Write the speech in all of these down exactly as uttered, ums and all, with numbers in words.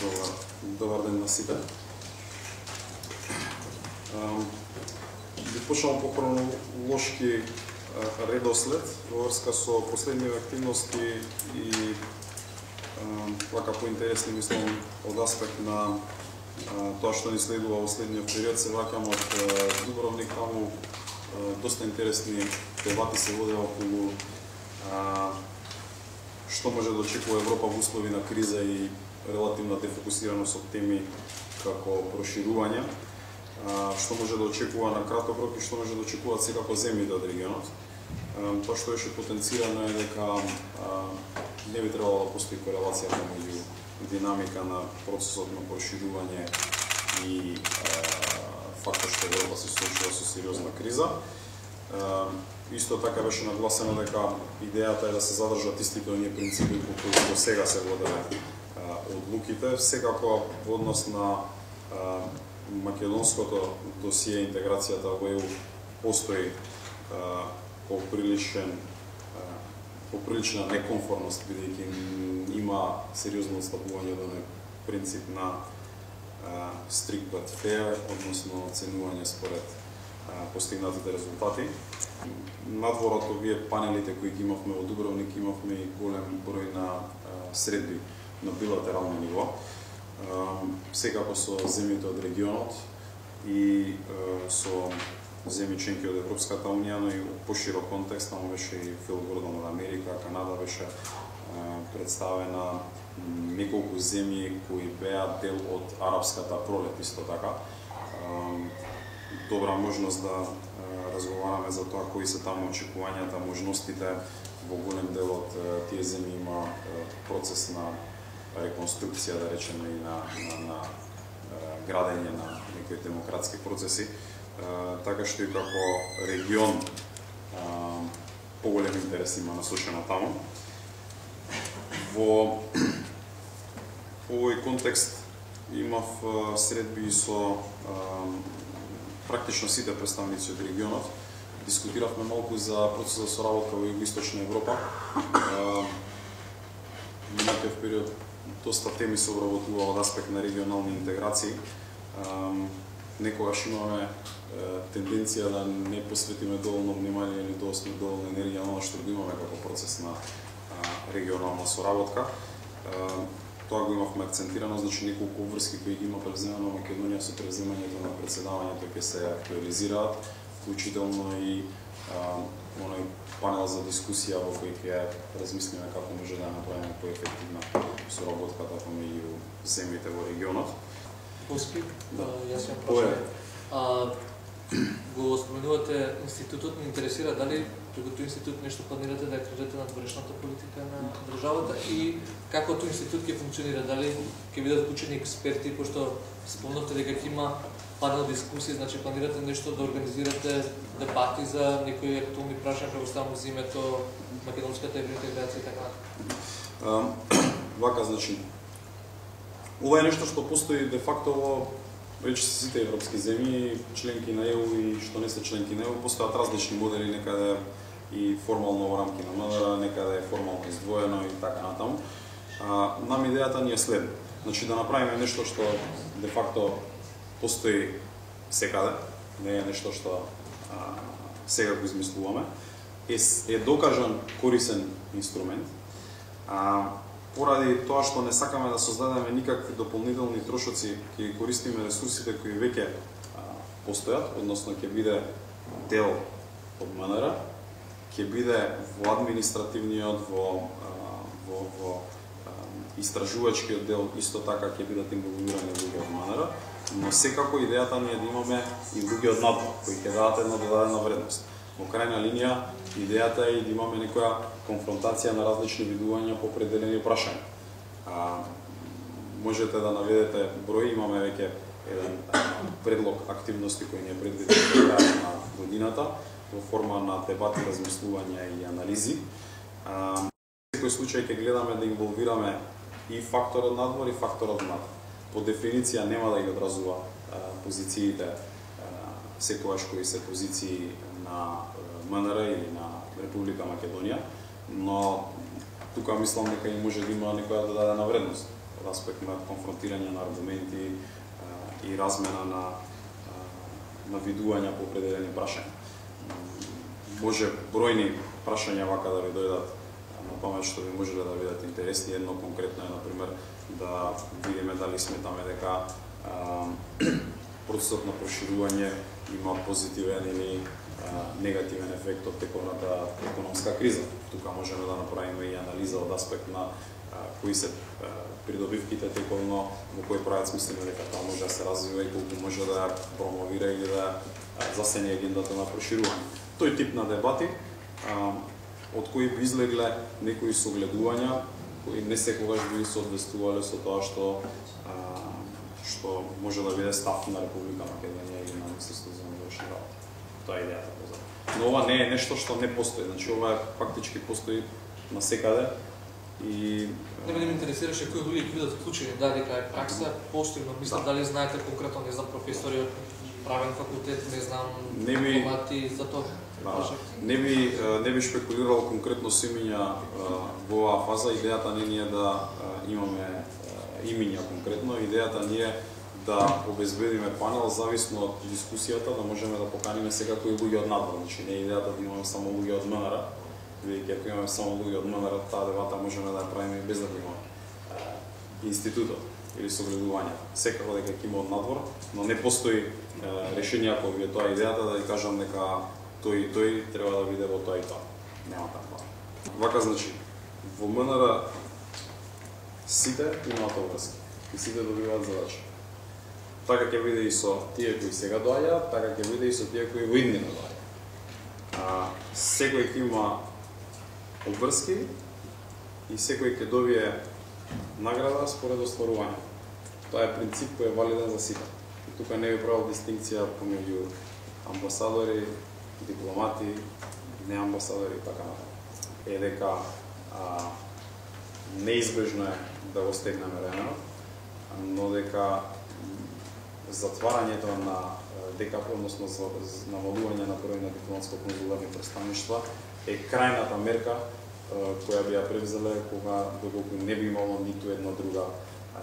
Добар, добар ден на сите. Би почнал по хронолошки редослед во врска со последниве активности и вака поинтересни мислам од аспект на тоа што ни следува во следниот период. Се враќам од Дубровник, таму доста интересни дебати се водеа околу што може да очекува Европа во услови на криза и релативна дефокусираност од теми како проширување, што може да очекува на краток рок и што може да очекуваат секако земјите од регионот. Тоа што беше потенцирано е дека не би требало да постои корелација меѓу динамика на процесот на проширување и фактот што Европа се соочува со сериозна криза. Исто така беше нагласено дека идејата е да се задржат истите оние принципи по кои до сега се воделе одлуките, секако во однос на македонското досие интеграцијата во ЕУ постои поприличен поприлична некомфортност, бидејќи има сериозно отстапување до принцип на strict but fair, односно оценување според постигнатите резултати. Надвор од овие панелите кои ги имавме во Дубровник, имавме и голем број на средби на билатерално ниво, секако со земјите од регионот и со земји членки од Европската унија, но и во поширок контекст, таму беше и Фил Гордон од Америка, Канада беше представена, неколку земји кои беа дел од арапската пролет исто така. Добра можност да разговараме за тоа кои се таму очекувањата, можностите. Во голем дел од тие земји има процес на реконструкција, да речеме, и на, на, на градење на некои демократски процеси, така што и како регион поголем интерес има насочено таму. Во овој контекст имав средби со практично сите представници од регионот. Дискутиравме малку за процесот со работа во Југоисточна Европа. Минатиот период доста теми се обработува од аспект на регионални интеграции. Некогаш имаме тенденција да не посветиме доволно внимание или доволно енергија на што го имаме како процес на регионална соработка. Тоа го имавме акцентирано, значи неколку врски кои ги има превземано Македонија со превземањето на председавањето ќе се актуализираат, вклучително и оној панел за дискусија во кој ќе размислиме како може да направиме поефективна соработката помеѓу земјите во регионот. Поски, јас ја прашам. Го споменувате институтот, ме интересира дали преку тој институт нешто планирате да кажете на дворешната политика на државата и како тој институт ќе функционира, дали ќе бидат вклучени експерти, пошто спомнавте дека ќе има панел дискусии, значи планирате нешто да организирате дебати за некои актуални прашања, предпоставам за името македонската евроинтеграција и така. Вака, значи, ова е нешто што постои де факто во рече сите европски земји, членки на ЕУ и што не се членки на ЕУ, постојат различни модели, некаде и формално во рамки на МНР, некаде е формално издвоено и така натаму. Нам идејата ни е следна. Значи да направиме нешто што де факто постои секаде, не е нешто што а, сега го измислуваме, е, е докажан корисен инструмент, а, поради тоа што не сакаме да создадеме никакви дополнителни трошоци, ќе користиме ресурсите кои веќе постојат, односно ќе биде дел од МНР, ќе биде во административниот, во, во, во истражувачкиот дел, исто така ќе бидат инволвирани луѓе од МНР, но секако идејата ни е да имаме и луѓе од надвор, кои ќе дадат една додадена вредност. Во крајна линија, идејата е и да имаме некоја конфронтација на различни видувања по определени прашања. А, можете да наведете број, имаме веќе еден предлог активности кои ни е предвиден до крај на годината, во форма на дебати, размислувања и анализи. А, во секој случај ќе гледаме да инволвираме и факторот надвор и факторот внатре. По дефиниција нема да ги одразува а, позициите а, секогаш кои се позиции на МНР или на Република Македонија, но тука мислам дека и може да има некоја додадена вредност од аспект на конфронтирање на аргументи и размена на на видувања по определени прашања. Може бројни прашања вака да ви дојдат на памет што ви можеле да бидат интересни. Едно конкретно е, например, да видиме дали сметаме дека процесот на проширување има позитивен или негативен ефект од тековната економска криза. Тука можеме да направиме и анализа од аспект на кои се придобивките тековно, во кој правец мислиме дека тоа може да се развива и колку може да промовира или да засене агендата на проширување. Тој тип на дебати, од кои би излегле некои согледувања, кои не секогаш би соодветствувале со тоа што што може да биде став на Република Македонија или на Министерството за външни работи. Тоа е идејата позади. Но ова не е нешто што не постои, значи ова фактички постои насекаде и не ме интересираше кои луѓе ќе бидат вклучени, дали дека е пракса постои, но мислам да. Дали знаете конкретно, не знам, професори од правен факултет, не знам, дипломати за тоа. Да, не би не би шпекулирал конкретно со имиња во оваа фаза. Идејата не е да имаме имиња конкретно, идејата ни е да обезбедиме панел зависно од дискусијата, да можеме да поканиме секакви луѓе од надвор. Значи не е идејата да имаме само луѓе од МНР, бидејќи ако имаме само луѓе од МНР, таа дебата можеме да ја правиме и без да имаме институтот или согледување. Секако дека ќе има од надвор, но не постои решение ако ви е тоа идејата да ви кажам дека тој и тој треба да биде во тоа и тоа. Нема така. Вака значи, во МНР сите имаат обврски и сите добиваат задачи. Така ќе биде и со тие кои сега доаѓаат, така ќе биде и со тие кои во иднина доаѓаат. Секој ќе има обврски и секој ќе добие награда според остварување. Тоа е принцип кој е валиден за сите. И тука не би правил дистинкција помеѓу амбасадори, дипломати, не амбасадори и така натаму. Е дека а, неизбежно е да го стегнеме ременот, но дека затварањето на ДКП, односно намалување на број на дипломатско-конзуларни представништва е крајната мерка која би ја превзеле кога доколку не би имало ниту една друга а,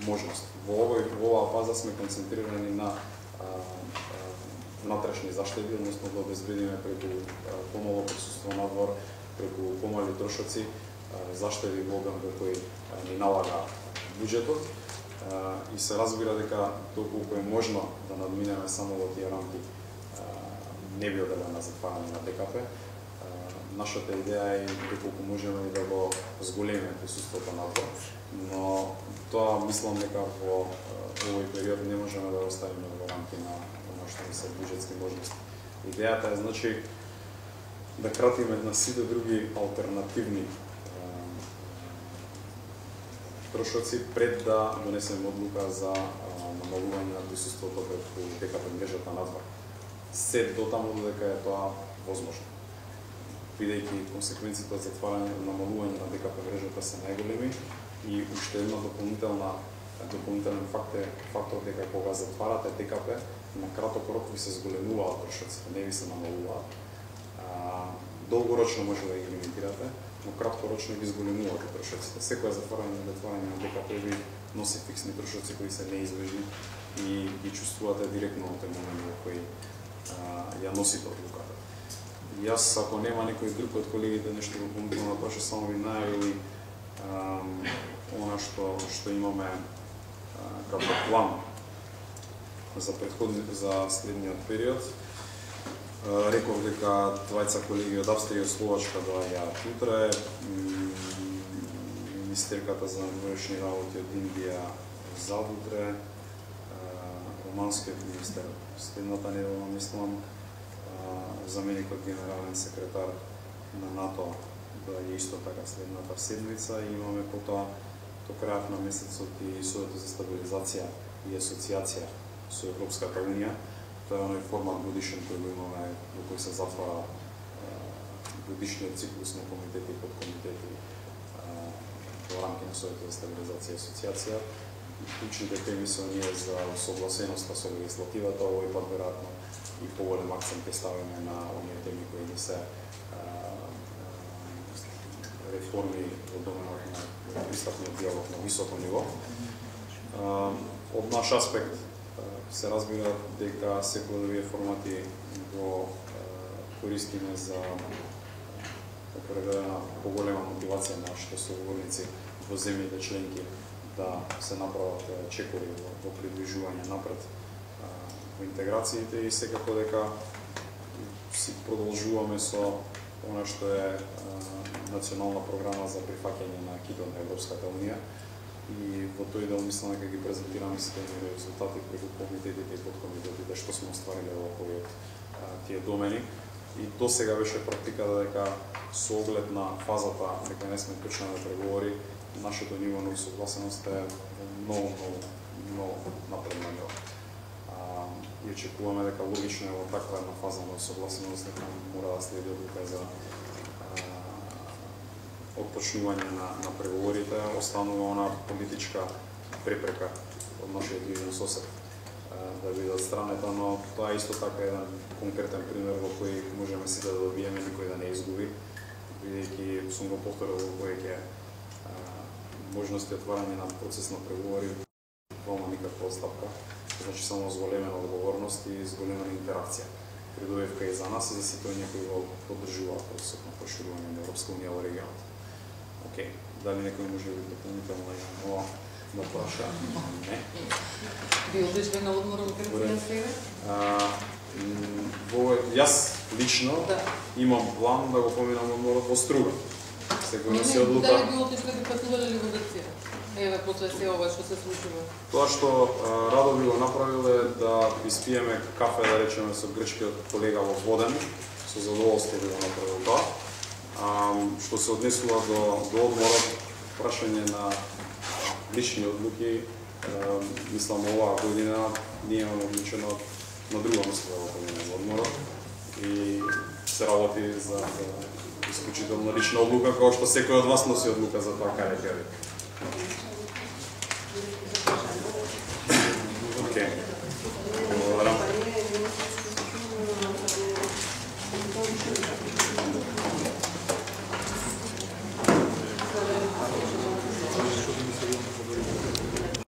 можност. Во овој во оваа фаза сме концентрирани на а, внатрешни заштеди, односно да обезбедиме преку помало присуство надвор, преку помали трошоци, заштеди во обем во кој ни налага буџетот и се разбира дека доколку е можно да надминеме само во тие рамки не би оделе на затварање на ДКП. Нашата идеја е доколку можеме да го зголемиме присуството надвор, но тоа мислам дека во овој период не можеме да оставиме во рамки на оно што ни се буџетски можности. Идејата е значи да кратиме на сите други алтернативни трошоци пред да донесеме одлука за намалување на присуството преку ДКП мрежата надвор. Се дотаму додека е тоа возможно. Бидејќи консеквенциите од затварање и намалување на ДКП мрежата се најголеми и уште една дополнителна дополнителен факт е фактот дека кога затварате ДКП на краток рок ви се зголемуваат трошоците, не ви се намалуваат. Долгорочно може да ги лимитирате, но краткорочно ги зголемувате трошоците. Секоја затварање и затварање на ДКП ви носи фиксни трошоци кои се неизбежни и ги чувствувате директно во тој момент во кој ја носите одлуката. Јас, ако нема некој друг од колегите нешто дополнително да праша, само ви најавили она што што имаме како план за претходните за следниот период. Реков дека двајца колеги од Австрија и Словачка доаѓаат утре, министерката за външни работи од Индија завутре, романскиот министер следната недела, мислам, заменикот генерален секретар на НАТО доаѓа исто така следната седмица и имаме потоа до крајот на месецот и Советот за стабилизација и асоциација со Европската унија. Тоа е оној формат годишен кој го имаме, во кој се затвара годишниот циклус на комитети и подкомитети во рамки на Советот за стабилизација и асоциација. Клучните теми се оние за согласеноста со легислативата, овој пат веројатно и поголем акцент ќе ставиме на оние теми кои не се реформи во доменот на пристапниот диалог на високо ниво. Од наш аспект се разбира дека секој од овие формати го користиме за определена поголема мотивација на нашите соговорници во земјите членки да се направат чекори во придвижување напред во интеграциите и секако дека си продолжуваме со она што е национална програма за прифаќање на акидот на Европската унија и во тој дел мислам дека ги презентираме сите резултати преку комитетите и подкомитетите што сме оствариле во овој тие домени. И до сега беше практиката дека со оглед на фазата дека не сме почнале преговори, нашето ниво на усогласеност е многу, многу, многу напредно ниво. И очекуваме дека логично е во таква една фаза на усогласеност дека мора да следи одлука за отпочнување на, на преговорите, останува она политичка препрека од нашиот јужен сосед да биде отстранета, но тоа е исто така еден конкретен пример во кој можеме сите да добиеме, никој да не изгуби, бидејќи сум го повторил во кој ќе можности отварање на процес на преговори вама никаква отстапка, значи само зголемена одговорност и зголемена интеракција. Придобивка и за нас и за сите оние кои го поддржуваат процесот на проширување на Европска унија во регионот. Океј, дали некој може да дополнително да да праша? Не. Ви одличен на одмор во Грција сега? Во јас лично да. Имам план да го поминам одморот во Струга. Секој се одлука. Дали би одличен да патувале ли во Грција? Еве после се ова што се случува. Тоа што радо би го направил е да испиеме кафе, да речеме, со грчкиот колега во Воден, со задоволство би го направил тоа. А, што се однесува до, до одморот, прашање на лични одлуки, а, мислам оваа година ние имаме одлучено на друго место во година во одморот и се работи за, за исклучително лична одлука, која што секој од вас носи одлука за тоа каде ќе